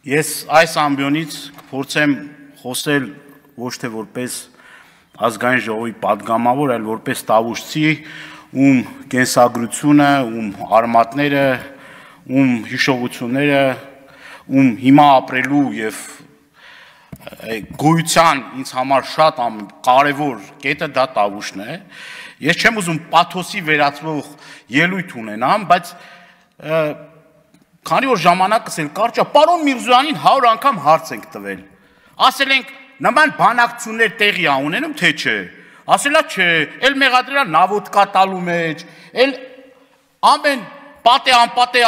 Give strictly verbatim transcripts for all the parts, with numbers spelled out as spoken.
Ես այս ամբիոնից կփորձեմ խոսել ոչ թե որպես ազգային ժողովի պատգամավոր, այլ որպես տավուշցի, ում կենսագրությունը, ում արմատները, ում հիշողությունները, ում հիմա ապրելու եւ գոյության ինձ համար շատ կարևոր կետը դա տավուշն է։ Ես չեմ ուզում պաթոսի վերածվող ելույթ ունենամ, բայց քանի որ ժամանակս էլ կարճ է, պարոն Միրզոյանին հարյուր անգամ հարց ենք տվել։ Ասել ենք նման բանակցություններ տեղի ա ունենում, թե չէ։ Ասելա չէ, էլ մեղադրելա նավոդկա տալու մեջ, էլ ամեն պատե անպատե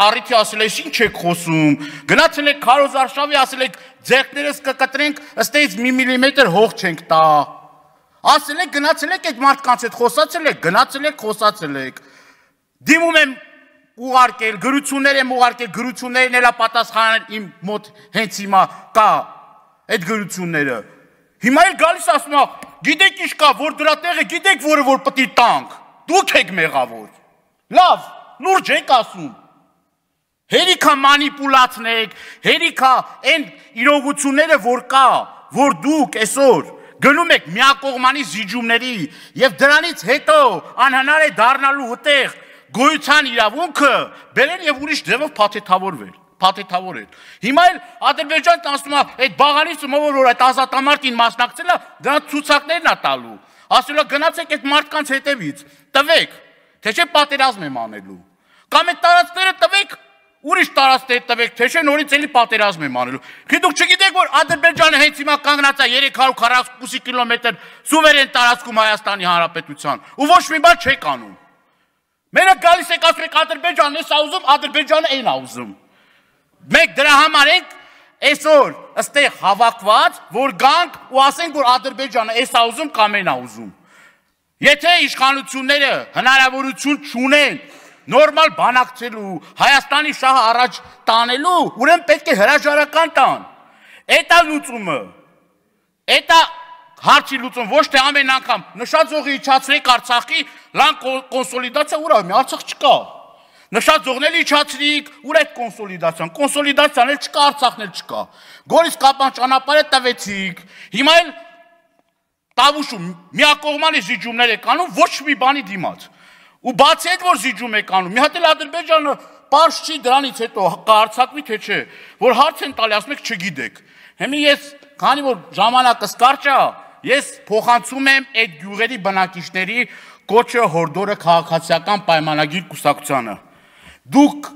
առիթի ասել ես ինչ եք խոսում, գնացել եք քարոզարշավի, ասել եք ձեռքներս կկտրենք, ըստեից մի միլիմետր հող չենք տա։ Ասել եք գնացել եք այդ մարդկանց հետ խոսացել եք, գնացել եք, խոսացել եք։ Դիմում եմ ուղարկել, գրություններ եմ ուղարկել, գրություններն էլա պատասխանել իմ մոտ հենց հիմա կա այդ գրությունները։ Հիմա էլ գալիս ասում է, գիտեք ինչ կա, որ դրա տեղը գիտեք, որը որ պետք է տանք։ Դուք եք մեղավոր։ Լավ, լուրջ եք ասում։ Հերիքա մանիպուլացնեք, հերիքա այն իրողությունները, որ կա, որ դուք այսօր գնում եք միակողմանի զիջումների եւ դրանից հետո անհնար է դառնալու ուտեղ գոյության իրավունքը բերել եւ ուրիշ ձևով փաթեթավորվել, փաթեթավորել։ Հիմա էլ Ադրբեջանն ասում է, այդ բաղանիցը ով որ այդ ազատամարտին մասնակցել է, դրա ցուցակներն է տալու։ Ասել է գնացեք այդ մարդկանց հետևից, տվեք, թե չէ պատերազմ եմ անելու։ Կամ այդ տարածքները տվեք, ուրիշ տարածքներ տվեք, թե չէ նորից էլի պատերազմ եմ անելու։ Քիչ դուք չգիտեք, որ Ադրբեջանը հենց հիմա կանգնած է երեք հարյուր քառակուսի կիլոմետր սուվերեն տարածքում Հայաստանի Հանրապետության, ու ոչ մի բան չեք անում։ Մենակ գալիս եք ասում եք Ադրբեջանն էս ա ուզում, Ադրբեջանը այն ա ուզում։ Մենք դրա համար ենք այսօր ըստեղ հավաքված, որ գանք ու ասենք, որ Ադրբեջանը էս ա ուզում կամ այն ա ուզում։ Եթե իշխանությունները հնարավորություն չունեն նորմալ բանակցելու, Հայաստանի շահը առաջ տանելու, ուրեմն պետք է հրաժարական տան։ Էդ ա լուծումը։ Էդ ա հարցի լուծում, ոչ թե ամեն անգամ նշածողի իջացրեք Արցախի լան կոնսոլիդացիա ուր է, Արցախ չկա։ Նշածողն էլ իջացրիք, ուր է կոնսոլիդացիան, կոնսոլիդացիան էլ չկա, Արցախն էլ չկա։ Գորիս Կապան ճանապարհը տվեցիք։ Հիմա էլ տավուշում միակողմանի զիջումներ եք անում ոչ մի բանի դիմաց։ Ու բացի այդ որ զիջում եք անում, մի հատ էլ Ադրբեջանը պարզ չի դրանից հետո կհարցակվի թե չէ, որ հարց են տալի, ասում եք չգիտեք։ Հիմա ես, քանի որ ժամանակս կարճ է, ես փոխանցում եմ այդ գյուղերի բնակիչների կոչը հորդորը քաղաքացիական պայմանագիր կուսակցությանը։ Դուք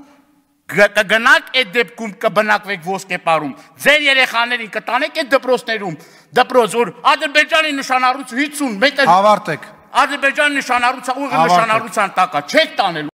կգնաք այդ դեպքում կբնակվեք ոսկեպարում, ձեր երեխաներին կտանեք այդ դպրոցներում, դպրոց, որ Ադրբեջանի նշանառություն հինգ մետր Ավարտեք։ Ադրբեջանի նշանառության ուղիղ նշանառության տակ է, չեք տանել։